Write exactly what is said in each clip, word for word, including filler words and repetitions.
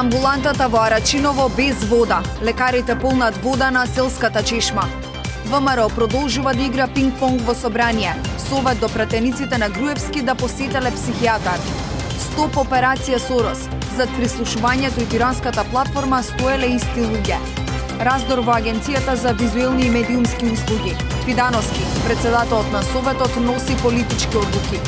Амбулантата во Арачиново без вода. Лекарите полнат вода на селската чешма. ВМРО продолжува да игра пинг-понг во собрание. Совет до пратениците на Груевски да посетеле психијатар. Стоп операција Сорос. Зад прислушувањето и тиранската платформа стоеле исти луѓе. Раздор во Агенцијата за визуелни и медиумски услуги. Фидановски, председателот на Советот, носи политички одлуки.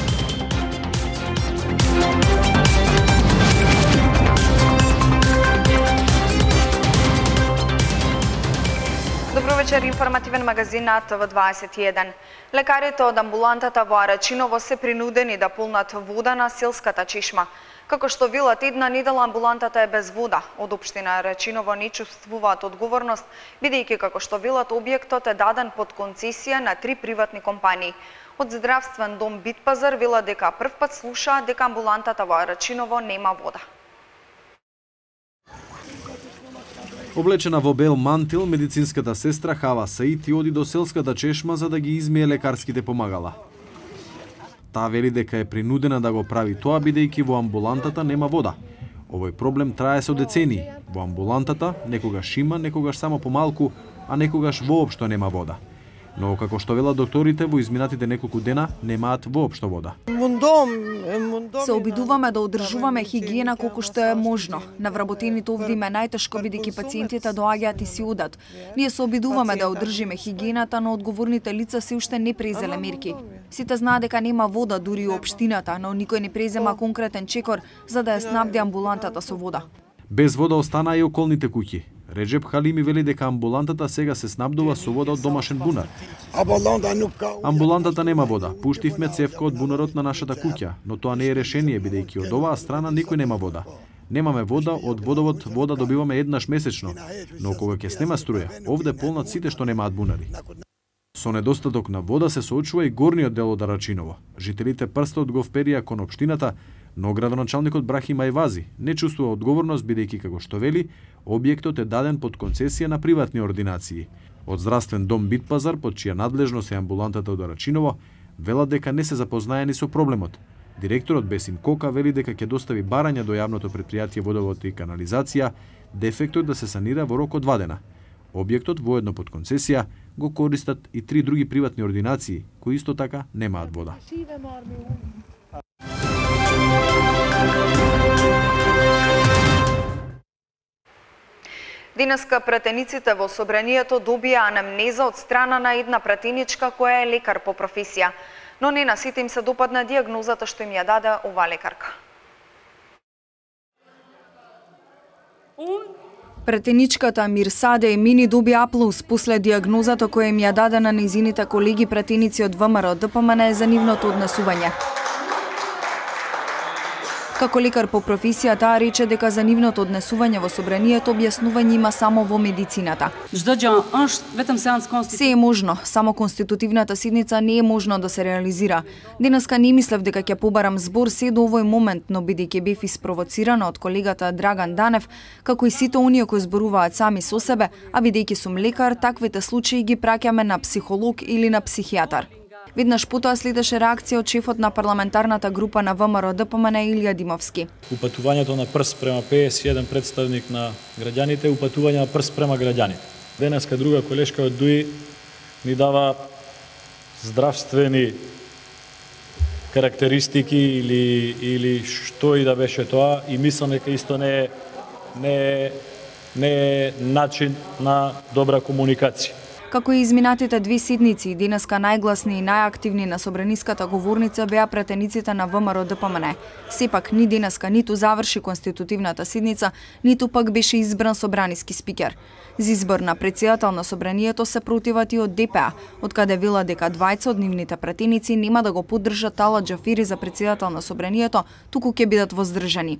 Добро вечер, информативен магазин на Т В дваесет и еден. Лекарите од амбулантата во Арачиново се принудени да полнат вода на селската чешма. Како што велат, една недела амбулантата е без вода. Од општина Арачиново не чувствуваат одговорност, бидејќи како што велат, објектот е даден под концесија на три приватни компании. Од здравствен дом Битпазар велат дека првпат слушаат дека амбулантата во Арачиново нема вода. Облечена во бел мантил, медицинската сестра Хава Саити оди до селската чешма за да ги измие лекарските помагала. Таа вели дека е принудена да го прави тоа бидејќи во амбулантата нема вода. Овој проблем трае со децении. Во амбулантата некогаш има, некогаш само помалку, а некогаш воопшто нема вода. Но како што велат докторите, во изминатите неколку дена немаат воопшто вода. Се обидуваме да одржуваме хигиена колку што е можно. На вработените овде им е најтешко бидејќи пациентите доаѓаат и си одат. Ние се обидуваме да одржиме хигиената, но одговорните лица се уште не презеле мерки. Сите знаат дека нема вода дури и општината, но никој не презема конкретен чекор за да ја снабди амбулантата со вода. Без вода останаа и околните куќи. Реджеп Халими вели дека амбулантата сега се снабдува со вода од домашен бунар. Амбулантата нема вода. Пуштивме цевка од бунарот на нашата куќа, но тоа не е решение бидејќи од оваа страна никој нема вода. Немаме вода, од водовод вода добиваме еднаш месечно, но кога ќе снема струја, овде полнат сите што немаат бунари. Со недостаток на вода се соочува и горниот дел од Арачиново. Жителите прстот го вперија кон општината, но градоначалникот Брахим Ајвази не чувствува одговорност бидејќи како што вели, објектот е даден под концесија на приватни ординации. Од здравствен дом Битпазар, под чија надлежност е амбулантата од Арачиново, велат дека не се запознаени со проблемот. Директорот Бесим Кока вели дека ќе достави барања до јавното претпријатие водовод и канализација, дефектот да се санира во рок од два дена. Објектот воедно под концесија го користат и три други приватни ординации кои исто така немаат вода. Денеска пратениците во собранието добија анамнеза од страна на една пратеничка која е лекар по професија, но не на сите им се допадна дијагнозата што им ја даде оваа лекарка. Пратеничката Мирсаде Емини доби аплауз после дијагнозата која им ја даде на нејзините колеги пратеници од ВМРО Д П М Н за нивното однесување. Како лекар по професија, таа рече дека за нивното однесување во собранието објаснување има само во медицината. Се е можно, само конститутивната седница не е можно да се реализира. Денеска не мислев дека ќе побарам збор се до овој момент, но бидејќи бев испровоцирана од колегата Драган Данев, како и сите оние кои зборуваат сами со себе, а бидејќи сум лекар, таквите случаи ги праќаме на психолог или на психијатар. Веднаш потоа следеше реакција од шефот на парламентарната група на ВМРО Д П М Н Илија Димовски. Упатувањето на прст према пеесет и еден представник на граѓаните, упатување на прст према граѓаните. Денеска друга колешка од ДУИ ни дава здравствени карактеристики или или што и да беше тоа и мислам дека исто не е не е, не е начин на добра комуникација. Како и изминатите две седници, денеска најгласни и најактивни на собраниската говорница беа пратениците на ВМРО Д П М Н. Сепак ни денеска ниту заврши конститутивната седница, ниту пак беше избран собраниски спикер. За избор на председател на собранието се противат и од Д П А, од каде вела дека двајца од нивните пратеници нема да го поддржат Талат Џафери за председател на собранието, туку ќе бидат воздржани.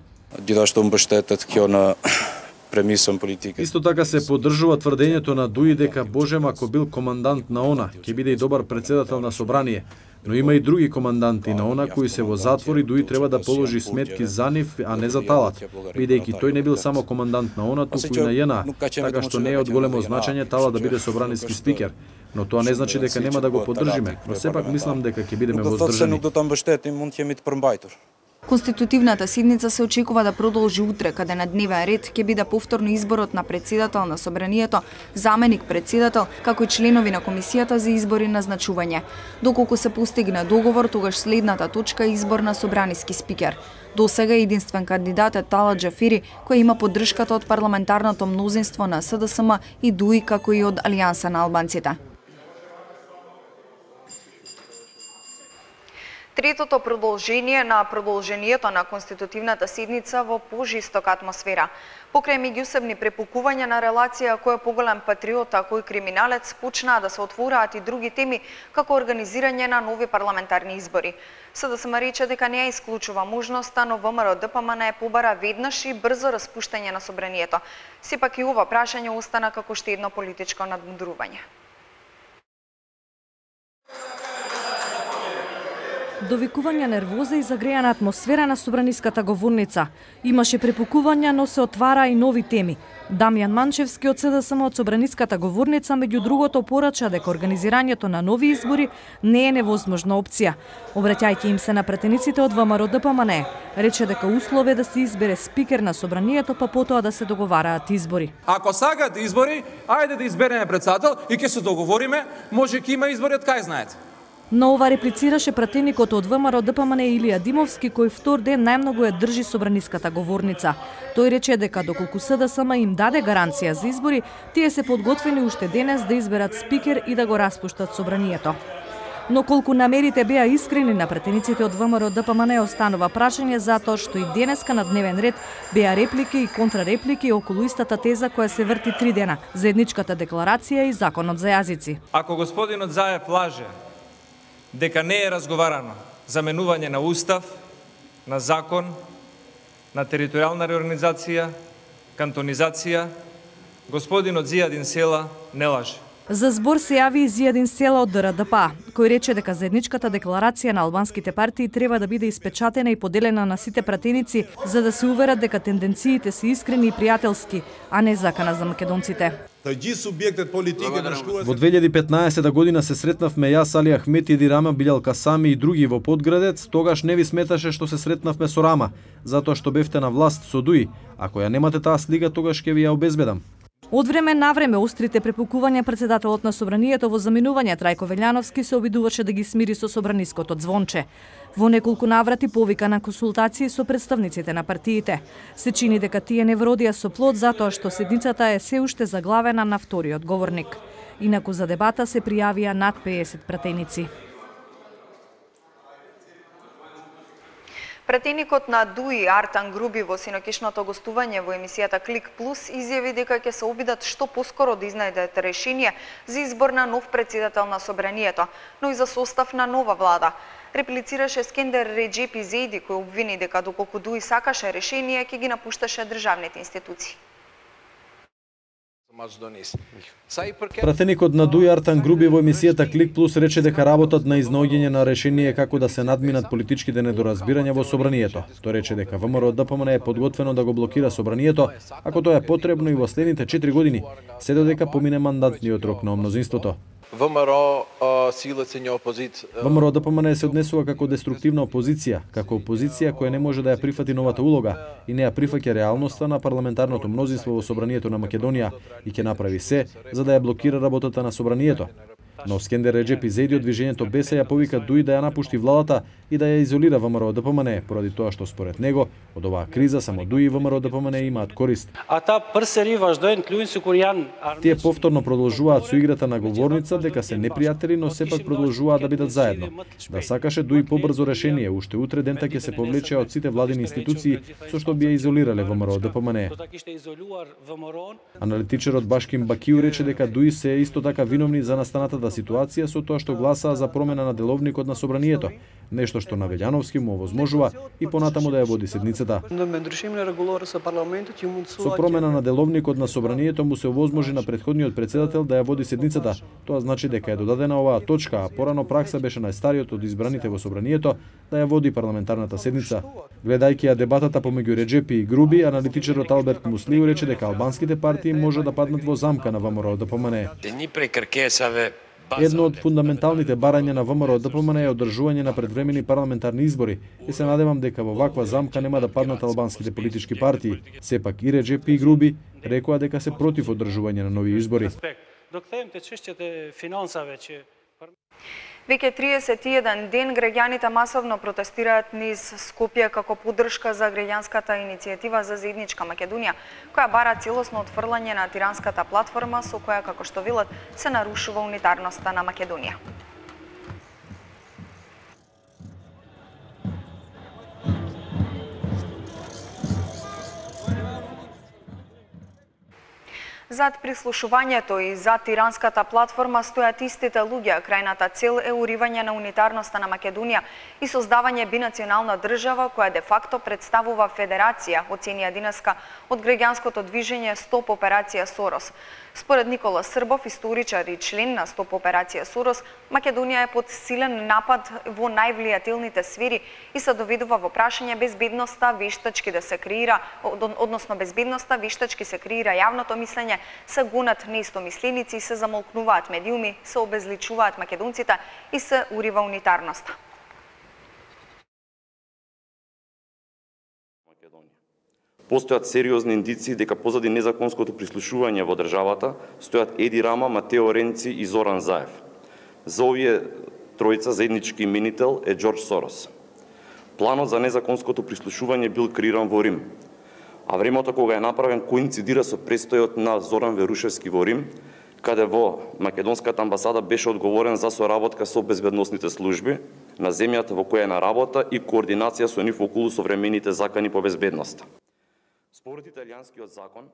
Исто така се поддржува тврдењето на ДУИ дека Божем ако бил командант на ОНА, ќе биде и добар председател на собрание, но има и други команданти на ОНА кои се во затвор и ДУИ треба да положи сметки за нив, а не за Талат, бидејќи тој не бил само командант на ОНА, туку и на Ј Н А, така што не е од големо значење Талат да биде собраниски спикер. Но тоа не значи дека нема да го поддржиме, но сепак мислам дека ќе бидеме воздржани. Конститутивната седница се очекува да продолжи утре, каде на дневен ред ќе биде повторно изборот на председател на Собранието, заменик председател, како и членови на комисијата за избор и назначување. Доколку се постигне договор, тогаш следната точка е избор на собраниски спикер. До сега единствен кандидат е Талат Џафери, кој има поддршката од парламентарното мнозинство на С Д С М и ДУИ, како и од Алијанса на албанците. Третото продолжение на продолжението на конститутивната седница во пожистока атмосфера. Покрај меѓусебни препукувања на релација кој е поголем патриот, а кој криминалец, почнаа да се отвораат и други теми, како организирање на нови парламентарни избори. С Д С М рече дека не ја исклучува можноста, но В М Р Д П М Н побара веднаш и брзо распуштање на собранието. Сепак и ова прашање остана како што едно политичко надмудрување. Довикување нервоза и загрејана атмосфера на собраниската говорница. Имаше препукувања, но се отвара и нови теми. Дамјан Манчевски од С Д С М од собраниската говорница меѓу другото порача дека организирањето на нови избори не е невозможна опција. Обраќајќи им се на пратениците од В М Р Д П М Н, рече дека услов е да се избере спикер на собранието, па потоа да се договараат избори. Ако сакаат избори, ајде да избереме председател и ќе се договориме, може ќе има избори од кај знаете. На ова реплицираше пратеникот од В М Р Д П М Н Илија Димовски, кој втор ден најмногу ја држи собраниската говорница. Тој рече дека доколку С Д С М им даде гаранција за избори, тие се подготвени уште денес да изберат спикер и да го распуштат собранието. Но колку намерите беа искрени на пратениците од В М Р Д П М Н останува прашање затоа што и денеска на дневен ред беа реплики и контрареплики околу истата теза која се врти три дена: заедничката декларација и законот за јазици. Ако господинот Заев лаже дека не е разговарано за менување на устав, на закон, на територијална реорганизација, кантонизација, господинот Зијадин Села не лаже. За збор се јави и Зијадин Села од Д Р Д П А, кој рече дека заедничката декларација на албанските партии треба да биде испечатена и поделена на сите пратеници за да се уверат дека тенденциите се искрени и пријателски, а не закана за македонците. Во две илјади и петнаесета година се сретнавме јас, Али Ахмет, Еди Рама, Билјал Касами и други во Подградец. Тогаш не ви сметаше што се сретнавме со Рама, затоа што бевте на власт со ДУИ. Ако ја немате таа слика, тогаш ќе ви ја обезбедам. Од време на време острите препукувања председателот на собранието во заминување Трајко Велјановски се обидуваше да ги смири со собраниското звонче. Во неколку наврати повика на консултации со представниците на партиите. Се чини дека тие не вродија со плод затоа што седницата е се уште заглавена на вториот говорник. Инаку за дебата се пријавија над пеесет пратеници. Пратеникот на ДУИ Артан Груби во синокишното гостување во емисијата Клик Плюс изјави дека ќе се обидат што поскоро да изнајдат решение за избор на нов председател на собранието, но и за состав на нова влада. Реплицираше Скендер Реджепи Зейди, кој обвини дека доколку ДУИ сакаше решение, ќе ги напушташе државните институции. Пратеникот на ДУИ Артан Груби во емисијата Клик Плюс рече дека работат на изнаоѓање на решение како да се надминат политичките недоразбирања во собранието. Тој рече дека В М Р Д П М Н е подготвено да го блокира собранието, ако тоа е потребно и во следните четири години, се додека помине мандатниот рок на мнозинството. В М Р силата не опозит. В М Р Д П М Н се однесува како деструктивна опозиција, како опозиција која не може да ја прифати новата улога и не ја прифаќа реалноста на парламентарното мнозинство во собранието на Македонија и ќе направи се за да ја блокира работата на собранието. Но Скендер Реджепи Зейди од движењето Беса ја повика ДУИ да ја напушти владата и да ја изолира В М Р Д П М Н, поради тоа што според него од оваа криза само ДУИ и В М Р Д П М Н имаат корист. Ата прсери вождоен клюнсу куријан. Тие повторно продолжуваат со играта на говорница дека се непријатели, но сепак продолжуваат да бидат заедно. Да сакаше ДУИ побрзо решение, уште утре дента ќе се повлече од сите владини институции со што би ја изолирале В М Р Д П М Н. Аналитичарот Башким Бакиу рече дека ДУИ се исто така виновни за настанатата ситуација со тоа што гласаа за промена на деловникот на собранието, нешто што на Велјановски му овозможува и понатаму да ја води седницата. Со промена на деловникот на собранието му се овозможи на претходниот председател да ја води седницата. Тоа значи дека е додадена оваа точка, а порано пракса беше најстариот од избраните во собранието да ја води парламентарната седница. Гледајќи ја дебатата помеѓу Реджепи и Груби, аналитичарот Алберт Муслиу рече дека албанските партии може да паднат во замка на В М Р Д П М Н. Едно од фундаменталните барања на ВМРО Д П М Н е одржување на предвремени парламентарни избори и се надевам дека во ваква замка нема да паднат албанските политички партии. Сепак и Реджеп и Груби рекоа дека се против одржување на нови избори. Док темте чиштите финанса веќе Веќе триесет и еден ден граѓаните масовно протестираат низ Скопје како поддршка за граѓанската иницијатива за заедничка Македонија, која бара целосно отфрлање на тиранската платформа со која, како што велат, се нарушува унитарноста на Македонија. Зад прислушувањето и зад тиранската платформа стојат истите луѓе. Крајната цел е уривање на унитарноста на Македонија и создавање бинационална држава која де факто представува федерација, оценија денеска од граѓанското движење Стоп операција Сорос. Според Никола Србов, историчар и член на Стоп операција Сорос, Македонија е под силен напад во највлијателните сфери и се доведува во прашање безбедноста вештачки да се креира, односно безбедноста вештачки се креира јавното мислење, се гонат неистомисленици, се замолкнуваат медиуми, се обезличуваат македонците и се урива унитарноста. Постојат сериозни индиции дека позади незаконското прислушување во државата стојат Еди Рама, Матео Ренци и Зоран Заев. За овие тројца заеднички именител е Џорџ Сорос. Планот за незаконското прислушување бил креиран во Рим, а времето кога е направен коинцидира со престојот на Зоран Верушевски во Рим, каде во македонската амбасада беше одговорен за соработка со безбедносните служби на земјата во која е на работа и координација со нив околу современите закани по безбедноста. Според италијанскиот закон,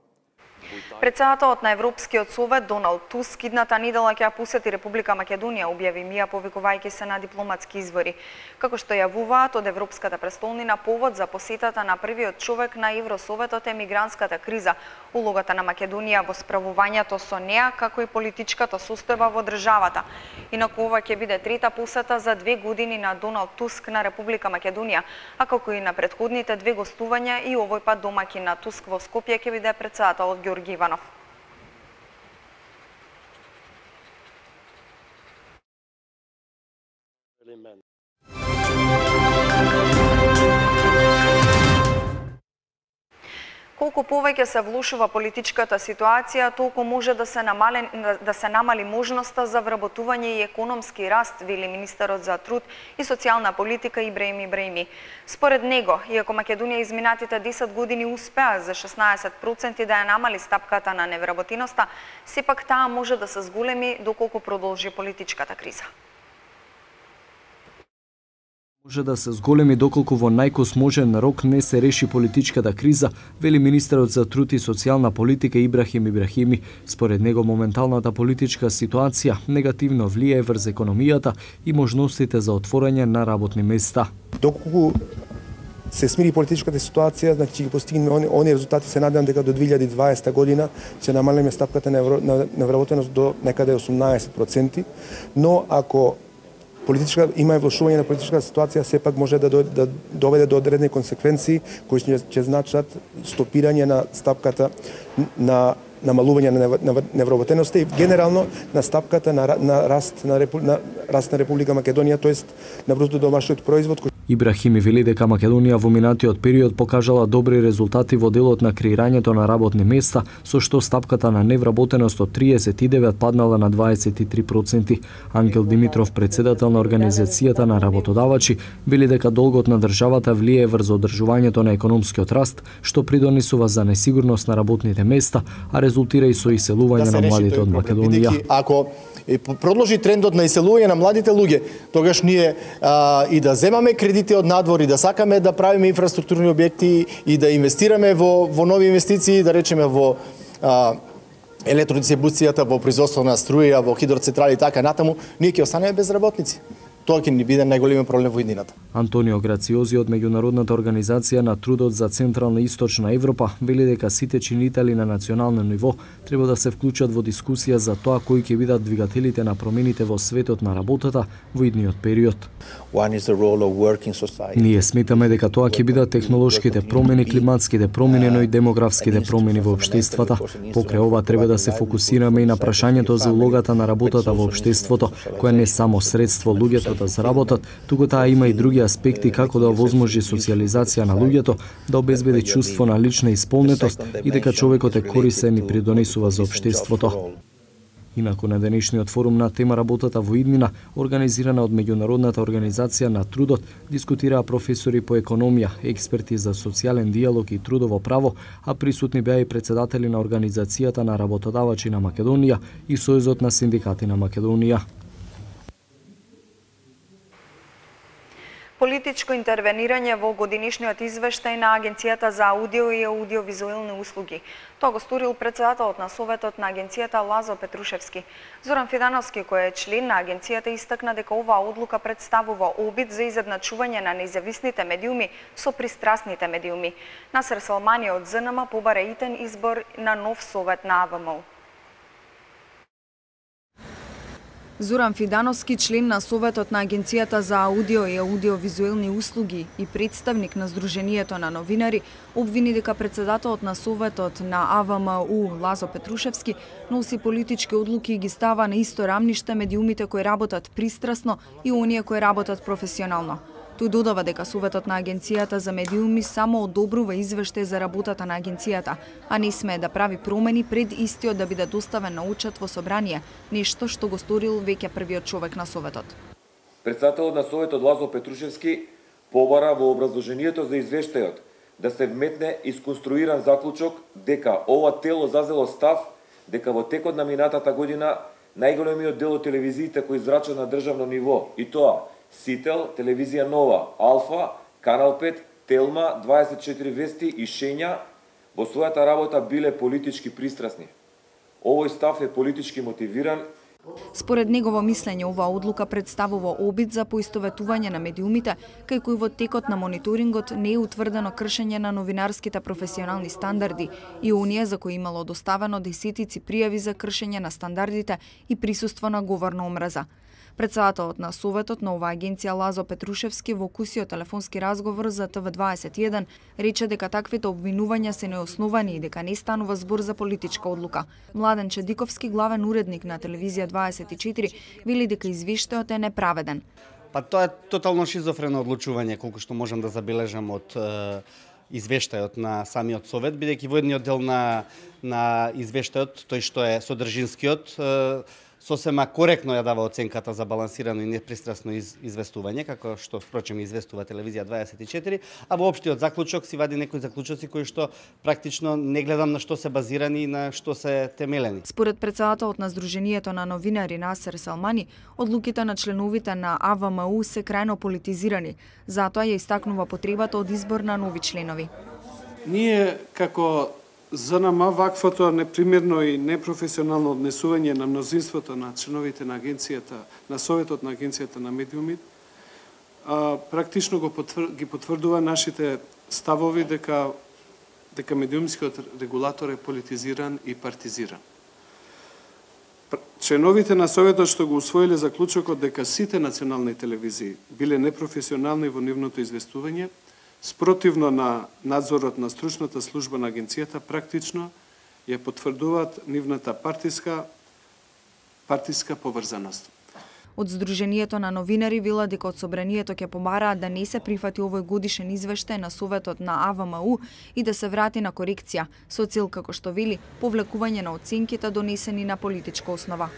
Председателот на Европскиот совет Доналд Туск идната недела ќе посети Република Македонија, објави МИА повикувајќи се на дипломатски извори. Како што јавуваат од Европската престолнина, повод за посетата на првиот човек на Евросоветот е мигрантската криза, улогата на Македонија во справувањето со неа, како и политичката состојба во државата. Инаку ова ќе биде трета посета за две години на Доналд Туск на Република Македонија, а како и на претходните две гостувања и овој пат домаќин на Туск во Скопје ќе биде председателот Ѓорги Иванов. Колку повеќе се влошува политичката ситуација, толку може да се намали, да се намали можноста за вработување и економски раст, вели министерот за труд и социјална политика Ибраим Ибраими. Според него, иако Македонија изминатите десет години успеа за шеснаесет проценти да ја намали стапката на невработеноста, сепак таа може да се зголеми доколку продолжи политичката криза. Може да се зголеми доколку во најкосможен рок не се реши политичката криза, вели министерот за труд и социјална политика Ибрахим Ибрахими. Според него моменталната политичка ситуација негативно влијае врз економијата и можностите за отворање на работни места. Доколку се смири политичката ситуација, значи ќе постигнеме они, они резултати, се надевам дека до две илјади и дваесета година ќе намалиме стапката на невработеност до некаде осумнаесет проценти, но ако политичка има влошување на политичката ситуација, сепак може да, да доведе до одредени консеквенции кои ќе, ќе значат стопирање на стапката на намалување на невработеноста и генерално на стапката на, на раст на, Репу, на раст на Република Македонија, тоест на бруто домашниот производ. Ибрахими вели дека Македонија во минатиот период покажала добри резултати во делот на креирањето на работни места, со што стапката на невработеност од триесет и девет паднала на дваесет и три проценти. Ангел Димитров, председател на Организацијата на работодавачи, вели дека долгот на државата влијае врз одржувањето на економскиот раст, што придонесува за несигурност на работните места, а резултира и со иселување да на младите од Македонија. Ако продолжи трендот на иселување на младите луѓе, тогаш ние а, и да земаме кредити од надвор и да сакаме да правиме инфраструктурни објекти и да инвестираме во, во нови инвестиции, да речеме во а, електродистрибуцијата, во производство на струја, во хидроцентрали и така натаму, ние ќе останеме без работници. тоа ќе ни биде најголемиот проблем во иднината. Антонио Грациози од Меѓународната организација на трудот за Централна и Источна Европа вели дека сите чинители на национално ниво треба да се вклучат во дискусија за тоа кои ќе бидат двигателите на промените во светот на работата во идниот период. Ние сметаме дека тоа ќе бидат технолошките промени, климатските промени, но и демографските промени во општествата. Покрај ова треба да се фокусираме и на прашањето за улогата на работата во општеството, која не само средство луѓето да заработат, туку таа има и други аспекти како да овозможи социјализација на луѓето, да обезбеди чувство на лична исполнетост и дека човекот е корисен и придонесува за општеството. Инаку на денешниот форум на тема работата во иднина, организирана од Меѓународната организација на трудот, дискутираа професори по економија, експерти за социјален диалог и трудово право, а присутни беа и председатели на Организацијата на работодавачи на Македонија и Сојузот на синдикати на Македонија. Политичко интервенирање во годинишниот извештај на Агенцијата за аудио и аудиовизуелни услуги. Тоа го сторил председателот на Советот на Агенцијата Лазо Петрушевски. Зоран Фидановски, кој е член на Агенцијата, истакна дека оваа одлука представува обид за изедначување на независните медиуми со пристрасните медиуми. Насер Салмани од ЗНМ побара итен избор на нов Совет на АВМУ. Зоран Фидановски, член на Советот на Агенцијата за аудио и аудиовизуелни услуги и представник на Сдруженијето на новинари, обвини дека председателот на Советот на АВМУ Лазо Петрушевски носи политички одлуки и ги става на исто рамниште медиумите кои работат пристрасно и оние кои работат професионално. Тој додава дека Советот на Агенцијата за медиуми само одобрува извештај за работата на агенцијата, а не смее да прави промени пред истиот да биде доставен на учет во собрание, нешто што го сторил веќе првиот човек на Советот. Председателот на Советот Лазо Петрушевски побара во образложението за извештајот да се вметне исконструиран заклучок дека ова тело зазело став дека во текот на минатата година најголемиот дел од телевизиите кои зрачат на државно ниво, и тоа Сител, Телевизија Нова, Алфа, Канал пет, Телма, дваесет и четири Вести и Шења во својата работа биле политички пристрасни. Овој став е политички мотивиран. Според негово мислење, оваа одлука представува обид за поистоветување на медиумите, кај кои во текот на мониторингот не е утврдено кршење на новинарските професионални стандарди и оние за кои имало доставено десетици пријави за кршење на стандардите и присуство на говор на омраза. Председателот на Советот на оваа агенција Лазо Петрушевски во кусиот телефонски разговор за Т В дваесет и еден рече дека таквите обвинувања се неосновани и дека не станува збор за политичка одлука. Младен Чедиковски, главен уредник на Телевизија дваесет и четири, вели дека извештајот е неправеден. Па тоа е тотално шизофрено одлучување, колку што можам да забележам од е, извештајот на самиот Совет, бидејќи во едниот дел на на извештајот, тој што е содржинскиот, е, сосема коректно ја дава оценката за балансирано и непристрасно из, известување, како што впрочем известува Телевизија дваесет и четири, а во општиот заклучок си вади некои заклучоци кои што практично не гледам на што се базирани и на што се темелени. Според председателот на Сдруженијето на новинари Насер Салмани, одлуките на членовите на АВМУ се крајно политизирани, затоа ја истакнува потребата од избор на нови членови. Ние како ЗНМ ваквото непримерно и непрофесионално однесување на мнозинството на членовите на агенцијата, на Советот на агенцијата на медиуми, а, практично го потвр... ги потврдува нашите ставови дека дека медиумскиот регулатор е политизиран и партизиран. Членовите на Советот што го усвоиле заклучокот дека сите национални телевизии биле непрофесионални во нивното известување, спротивно на надзорот на стручната служба на агенцијата, практично ја потврдуваат нивната партиска партиска поврзаност. Од Сдруженијето на новинари вела дека од собранието ќе побараат да не се прифати овој годишен извештај на Советот на АВМУ и да се врати на корекција, со цел, како што вели, повлекување на оценките донесени на политичка основа.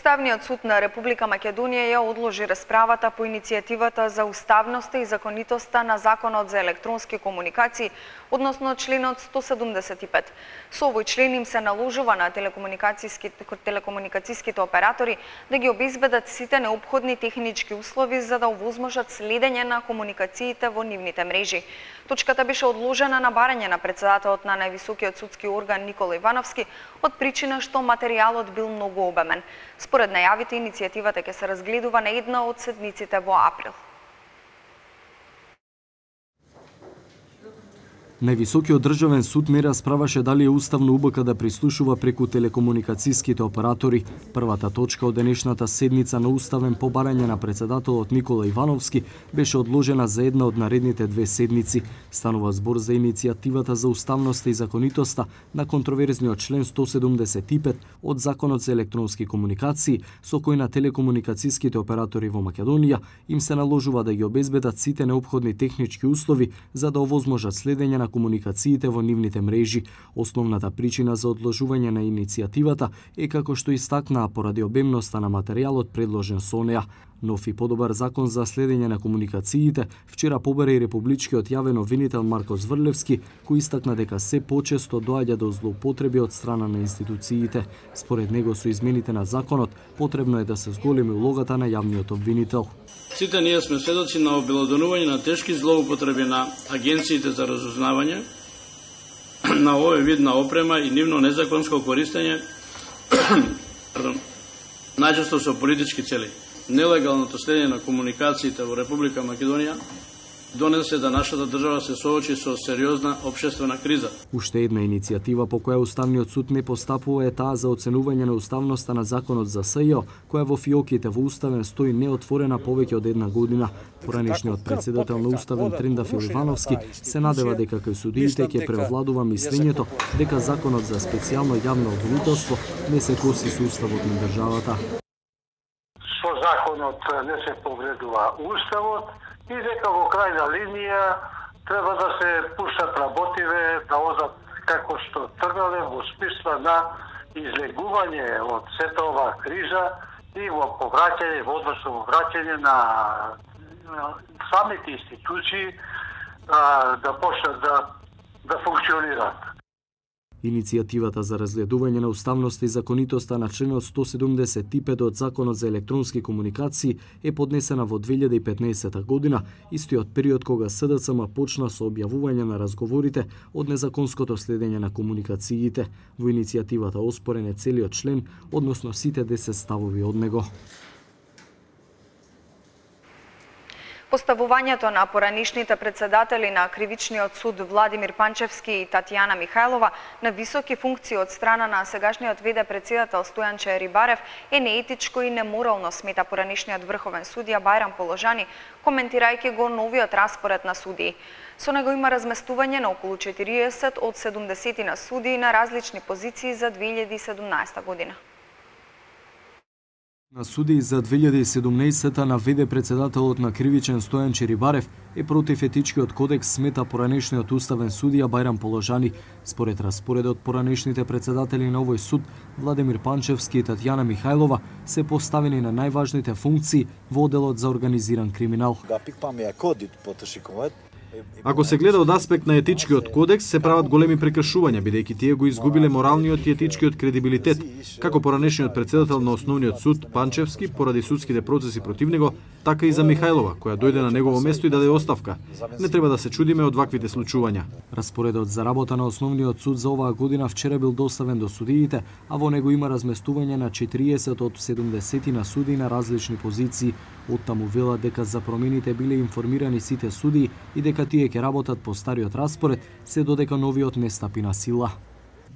Уставниот суд на Република Македонија ја одложи расправата по иницијативата за уставноста и законитоста на Законот за електронски комуникации, односно членот сто седумдесет и пет. Со овој член им се наложува на телекомуникацијските телекомуникацијските оператори да ги обезбедат сите неопходни технички услови за да овозможат следење на комуникациите во нивните мрежи. Точката беше одложена на барање на председателот на највисокиот судски орган Никола Ивановски од причина што материјалот бил многу обемен. Според најавите, иницијативата ќе се разгледува на една од седмиците во април. Највисокиот државен суд не расправаше дали е уставно УБК да прислушува преку телекомуникацијските оператори. Првата точка од денешната седница на уставен по барање на председателот Никола Ивановски беше одложена за една од наредните две седници. Станува збор за иницијативата за уставноста и законитоста на контроверзниот член сто седумдесет и пет од Законот за електронски комуникации, со кој на телекомуникацијските оператори во Македонија им се наложува да ги обезбедат сите неопходни технички услови за да овозможат следење на комуникациите во нивните мрежи. Основната причина за одложување на иницијативата е, како што истакнаа, поради обемноста на материјалот предложен со неа. Нов и подобар закон за следење на комуникациите вчера побара и републичкиот јавен обвинител Марко Зврлевски, кој истакна дека се почесто доаѓа до злоупотреби од страна на институциите. Според него, со измените на законот потребно е да се зголеми улогата на јавниот обвинител. Сите ние сме сведоци на обелоденување на тешки злоупотреби на агенциите за разузнавање на овој вид на опрема и нивно незаконско користење најчесто со политички цели. Нелегалното следење на комуникациите во Република Македонија донесе да нашата држава се соочи со сериозна општествена криза. Уште една иницијатива по која Уставниот суд не постапува е таа за оценување на уставноста на Законот за СЈО, која во фиоките во Уставен стои неотворена повеќе од една година. Поранешниот председател на Уставен Трендафил Ивановски се надева дека кај судиите ќе превладува мислењето дека Законот за специјално јавно обвинителство не се коси со Уставот на државата. Со законот не се повредува Уставот и дека во крајна линија треба да се пуштат работиве да одат како што тргале во смисла на излегување од сета оваа криза и во повраќање, во односно во враќање на самите институции да почнат да, да функционираат. Иницијативата за разгледување на уставноста и законитоста на членот сто седумдесет и пет од Законот за електронски комуникации е поднесена во две илјади и петнаесета година, истиот период кога СДЦМ почна со објавување на разговорите од незаконското следење на комуникациите. Во иницијативата оспорен е целиот член, односно сите десет ставови од него. Поставувањето на поранишните председатели на Кривичниот суд Владимир Панчевски и Татјана Михајлова на високи функции од страна на сегашниот вд председател Стојанче Рибарев е неетичко и неморално, смета поранишниот врховен судија Бајрам Положани, коментирајќи го новиот распоред на судии. Со него има разместување на околу четириесет од седумдесет на судии на различни позиции за две илјади и седумнаесета година. На судии за две илјади и седумнаесета на вд председателот на Кривичен Стојанче Рибарев е против етичкиот кодекс, смета поранешниот уставен судија Бајрам Положани. Според распоредот, поранешните председатели на овој суд Владимир Панчевски и Татјана Михајлова се поставени на најважните функции во одделот за организиран криминал. Ако се гледа од аспект на етичкиот кодекс, се прават големи прекршувања, бидејќи тие го изгубиле моралниот и етичкиот кредибилитет, како поранешниот председател на Основниот суд Панчевски поради судските процеси против него, така и за Михајлова, која дојде на негово место и даде оставка. Не треба да се чудиме од ваквите случувања. Распоредот за работа на Основниот суд за оваа година вчера бил доставен до судиите, а во него има разместување на четириесет од седумдесет на судии на различни позиции. Оттаму велат дека за промените биле информирани сите судии и дека тие ќе работат по стариот распоред, се додека новиот не стапи на сила.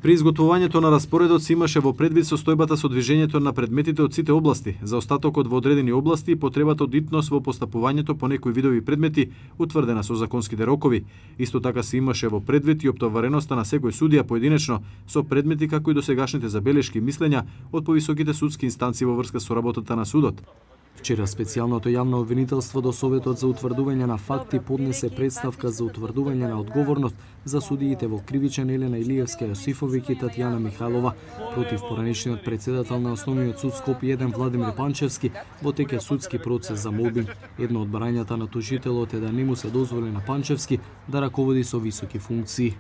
При изготвувањето на распоредот се имаше во предвид состојбата со движењето на предметите од сите области, за остатокот во одредени области и потребата од итност во постапувањето по некои видови предмети, утврдена со законските рокови. Исто така се имаше во предвид и оптовареноста на секој судија поединечно со предмети како и досегашните забелешки и мислења од повисоките судски инстанции во врска со работата на судот. Вчера специјалното јавно обвинителство до Советот за утврдување на факти поднесе представка за утврдување на одговорност за судиите во Кривичен Елена Илиевска Јосифовиќ и Татјана Михайлова против поранешниот председател на Основниот суд Скопје еден Владимир Панчевски во тек судски процес за мобинг. Едно од барањата на тужителот е да не му се дозволи на Панчевски да раководи со високи функции.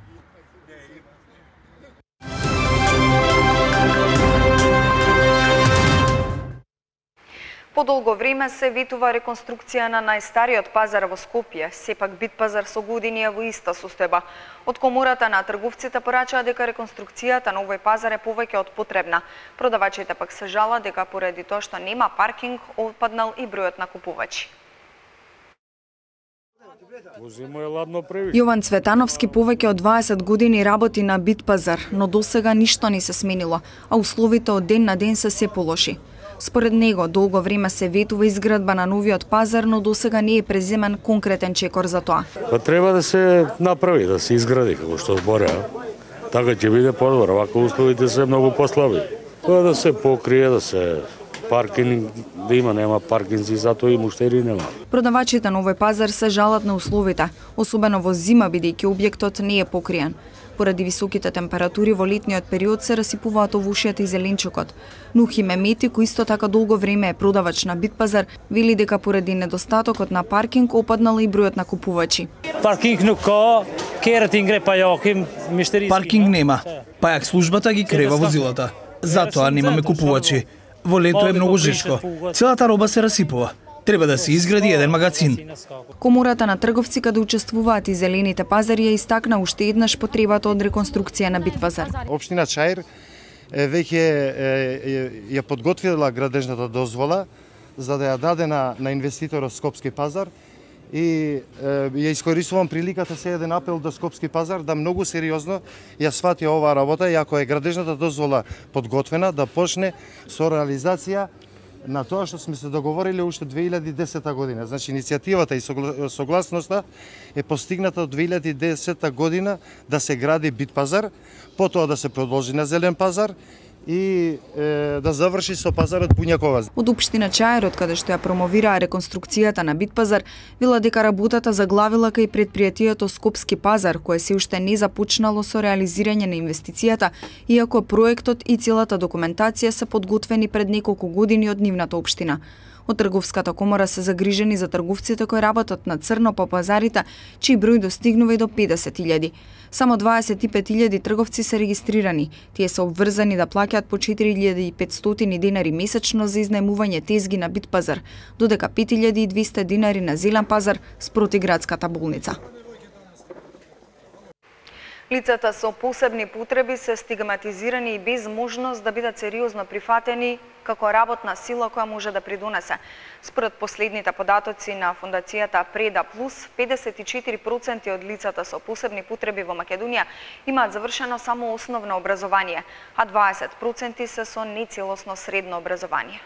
Подолго време се ветува реконструкција на најстариот пазар во Скопје, сепак Битпазар со години е во иста состојба. Од Комората на трговците порачаа дека реконструкцијата на овој пазар е повеќе од потребна. Продавачите пак се жалат дека поради тоа што нема паркинг, опаднал и бројот на купувачи. Јован Цветановски повеќе од дваесет години работи на Битпазар, но досега ништо не се сменило, а условите од ден на ден се се полоши. Според него, долго време се ветува изградба на новиот пазар, но досега не е преземен конкретен чекор за тоа. Па треба да се направи, да се изгради како што збореа. Така ќе биде подобро, вака условите се многу послаби. Тоа да се покрие, да се паркинг, да има, нема паркинзи, затоа и муштери нема. Продавачите на овој пазар се жалат на условите, особено во зима бидејќи објектот не е покриен. Поради високите температури во летниот период се расипуваат овушјата и зеленчукот. Нухи Мемети, кој исто така долго време е продавач на Битпазар, вели дека поради недостатокот на паркинг опаднал и бројот на купувачи. Паркинг nuk ka, kerët i ngre pajakim, mishterisë. Паркинг нема. Пајак службата ги крева возилата. Затоа немаме купувачи. Во лето е многу жешко. Целата роба се расипува. Треба да се изгради еден магазин. Комората на трговци каде учествуваат и зелените пазари ја истакна уште еднаш потребата од реконструкција на Битпазар. Општина Чаир веќе ја подготвила градежната дозвола за да ја даде на, на инвеститорот Скопски пазар и ја искористувам приликата се еден апел до Скопски пазар да многу сериозно ја свати оваа работа и ако е градежната дозвола подготвена да почне со реализација на тоа што сме се договориле уште две илјади и десета година. Значи, иницијативата и согласноста е постигната од две илјади и десета година да се гради Битпазар, потоа да се продолжи на зелен пазар и е, да заврши со пазарот Бунјакова. Од општина Чаир, каде што ја промовираа реконструкцијата на Битпазар, вела дека работата заглавила кај предпријатието Скопски пазар, кое се уште не започнало со реализирање на инвестицијата, иако проектот и целата документација се подготвени пред неколку години од нивната општина. Од Трговската комора се загрижени за трговците кои работат на црно по пазарите, чиј број достигнува и до педесет илјади. Само дваесет и пет илјади трговци се регистрирани. Тие се обврзани да плаќаат по четири илјади и петстотини динари месечно за изнајмување тезги на Битпазар, додека пет илјади и двесте динари на зелен пазар спроти градската болница. Лицата со посебни потреби се стигматизирани и без можност да бидат сериозно прифатени како работна сила која може да придонесе. Според последните податоци на фондацијата Преда Плюс, педесет и четири проценти од лицата со посебни потреби во Македонија имаат завршено само основно образование, а дваесет проценти се со нецелосно средно образование.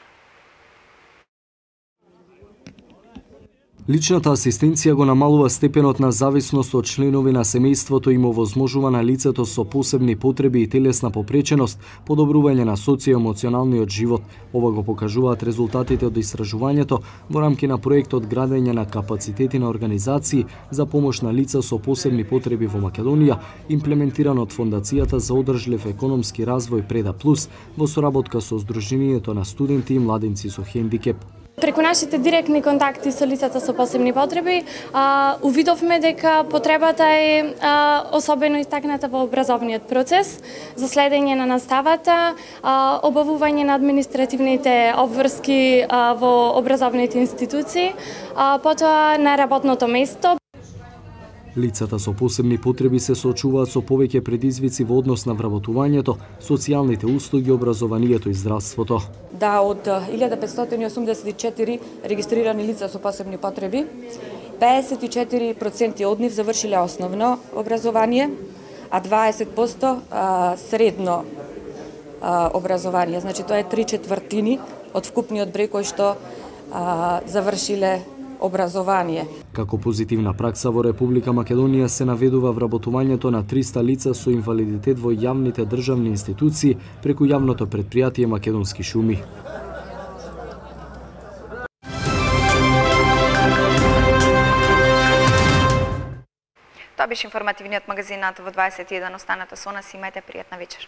Личната асистенција го намалува степенот на зависност од членови на семејството и му овозможува на лицето со посебни потреби и телесна попреченост подобрување на социоемоционалниот живот. Ова го покажуваат резултатите од истражувањето во рамки на проектот градење на капацитети на организации за помош на лица со посебни потреби во Македонија, имплементиран од Фондацијата за одржлив економски развој Преда Плюс во соработка со Сдруженијето на студенти и младинци со хендикеп. Преку нашите директни контакти со лицата со посебни потреби, а, увидовме дека потребата е а, особено истакната во образовниот процес за следење на наставата, а, обавување на административните обврски а, во образовните институции, а, потоа на работното место. Лицата со посебни потреби се соочуваат со повеќе предизвици во однос на вработувањето, социјалните услуги, образованието и здравството. Да, од илјада петстотини и осумдесет и четири регистрирани лица со посебни потреби, педесет и четири проценти од нив завршиле основно образование, а дваесет проценти средно образование. Значи тоа е три четвртини од вкупниот број кој што завршиле образование. Како позитивна пракса во Република Македонија се наведува вработувањето на триста лица со инвалидитет во јавните државни институции преку јавното претпријатие Македонски шуми. беше информативниот магазин на ТВ дваесет и еден. Останете со нас и имајте пријатна вечер.